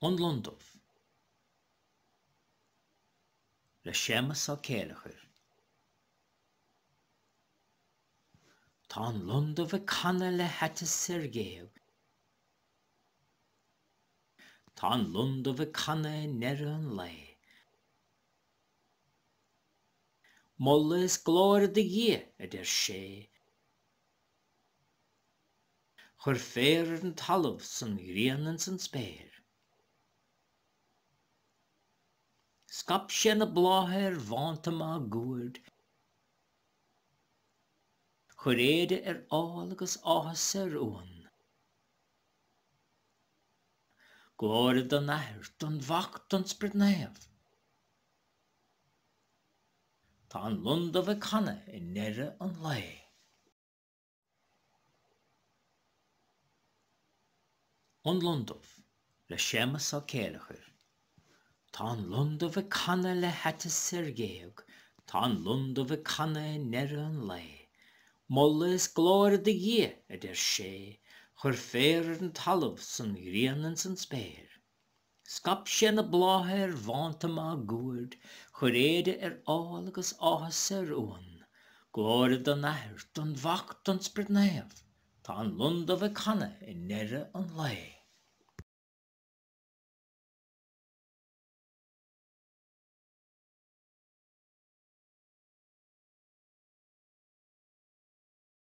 An Lon Dubh le Séamus Ó Céileachair. Tá an lon dubh ag canadh le haiteas ar ghéag. Tá an lon dubh ag canadh i ndeireadh an lae. Moladh is glóir do Dhia, a deir sé. Chuir féar ar an talamh 's an ghrian ins an spéir. Scaip sé na blátha ar bhánta máguaird, Chuir éide ar ál agus áthas ar uan. Glóire don Athair, don Mhac, don Sprid Naomh. Tá an lon dubh ag canadh i ndeireadh an lae. An Lon Dubh le Séamus Ó Céileachair. Tá an lon dubh ag canadh le haiteas ar ghéag, Tá an lon dubh ag canadh i ndeireadh an lae. Moladh is glóire do Dhia, a deir sé, Chuir féar ar an talamh 's an ghrian ins an spéir. Scaip sé na blátha ar bhánta máguaird, Chuir éide ar ál agus áthas ar uan. Glóire don Athair, don Mhac, don Sprid Naomh, Tá an lon dubh ag canadh i ndeireadh an lae.